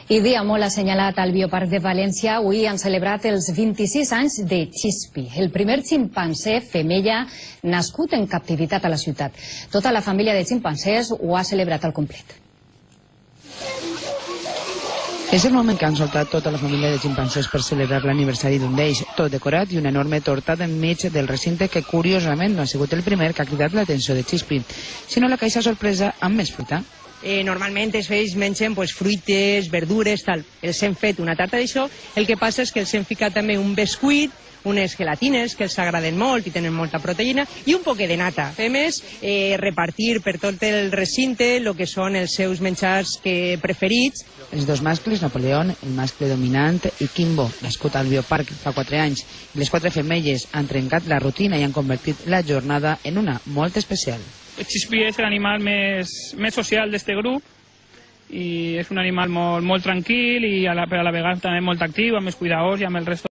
I dia molt assenyalat al Bioparc de València, avui han celebrat els 26 anys de Chispi, el primer ximpanzé femella nascut en captivitat a la ciutat. Tota la família de ximpancés ho ha celebrat al complet. És el moment que han soltat tota la família de ximpancés per celebrar l'aniversari d'un d'ells, tot decorat i una enorme torta enmig del recinte que curiosament no ha sigut el primer que ha cridat l'atenció de Chispi, sinó la caixa sorpresa amb més fruita. Normalment ells mengen fruites, verdures, tal. Els hem fet una tarta d'això, el que passa és que els hem ficat també un bescuit, unes gelatines que els agraden molt i tenen molta proteïna i un poquet de nata. Fem és repartir per tot el recinte el que són els seus menjars preferits. Els dos mascles, Napoleón, el mascle dominant, i Kimbo, nascut al Bioparc fa 4 anys, i les 4 femelles han trencat la rutina i han convertit la jornada en una molt especial. Chispi és l'animal més social d'este grup i és un animal molt tranquil i però a la vegada també molt actiu, amb els cuidadors i amb el resto.